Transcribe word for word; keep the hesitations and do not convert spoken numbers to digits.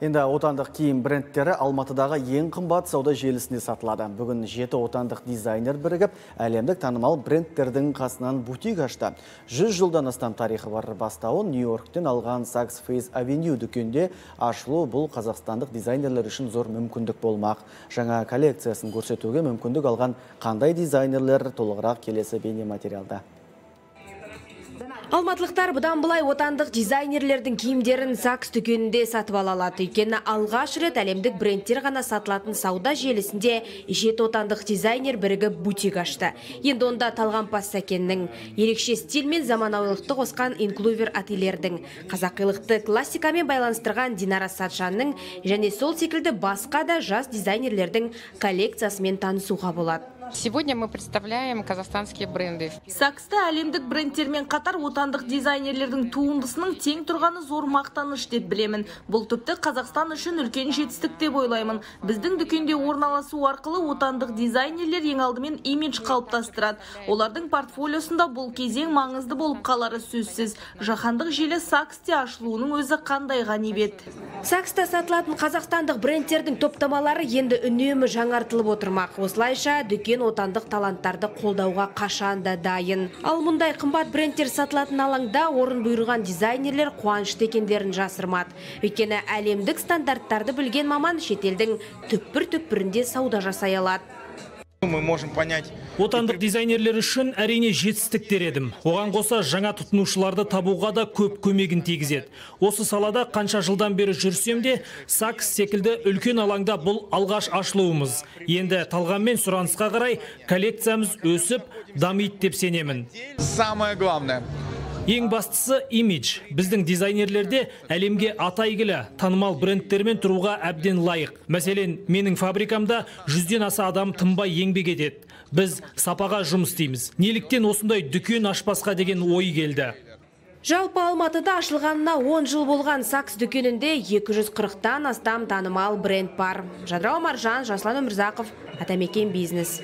Енді отандық киім брендтері Алматыдағы ең қымбат сауда желісінде сатылады. Бүгін жеті отандық дизайнер бірігіп, әлемдік танымал брендтердің қасынан бутик ашты. жүз жылдан астам тарихы бар бастауын Нью-Йорктен алған Saks Fifth Avenue дүкенде ашылу бұл қазақстандық дизайнерлер үшін зор мүмкіндік болмақ. Жаңа коллекциясын көрсетуге мүмкіндік алған қандай дизайнерлер толығырақ келесі бейнематериалда. Алматылықтар бұдан былай отандық дизайнерлердің киімдерін Saks дүкенінде сатып ала алады. Өйткені алғаш рет әлемдік брендтер ғана сатылатын сауда желісінде жеті отандық дизайнер бірігіп бутик ашты. Енді онда Талғампаз Сәкеннің, ерекше стиль мен заманауилықты қосқан инклувер ательердің, қазақилықты классикамен байланыстырған Динара Сатжанның және сол секілді басқа да жас дизайнерлердің коллекциясымен танысуға болады. Сегодня мы представляем казахстанские бренды. Сакста әлемдік брендтермен қатар отандық дизайнерлердің туындысының тең тұрғаны зор мақтаныш деп білемін. Бұл тіпті Қазақстан үшін үлкен жетістік деп ойлаймын. Біздің дүкенде орналасу арқылы отандық дизайнерлер ең алдымен имидж қалыптастырады. Олардың портфолиосында бұл кезең маңызды болып қалары сөзсіз. Жаһандық желі Саксте ашылуының өзі қандай ғанибет. Сакста сатылатын қазақстандық брендтердің топтамалары енді үнемі жаңартылып отырмақ. Осылайша дүкен отандық таланттарды қолдауға қашанда дайын. Ал мұндай қымбат брендтер сатылатын алаңда орын бұйырған дизайнерлер қуанышты екендерін жасырмады. Өйткені әлемдік стандарттарды білген маман шетелдің түкпір-түкпірінде сауда жасай алады. Мы можем понять. Отандық дизайнерлер үшін әрине жетістіктер едім. Оған қоса жаңа тұтынушыларды табуға да көп көмегін тигізеді. Осы салада қанша жылдан бері жүрсем де, Saks секілді үлкен алаңда бұл алғаш ашылуымыз. Енді талғаммен сұранысқа қарай коллекциямыз өсіп, дамиды деп сенемін. Самое главное. Ең бастысы имидж. Біздің дизайнерлерде әлемге атайгілі танымал брендтермен тұруға әбден лайық. Мәселен, менің фабрикамда жүзден аса адам тынбай еңбек етеді. Біз сапаға жұмыс істейміз. Неліктен осындай дүкен ашпасқа деген ой келді. Жалпы Алматыда ашылғанына он жыл болған Saks дүкенінде екі жүз қырықтан астам танымал бренд бар. Жадырау Маржан, Жаслан Өмірзақов, Атамекен бизнес.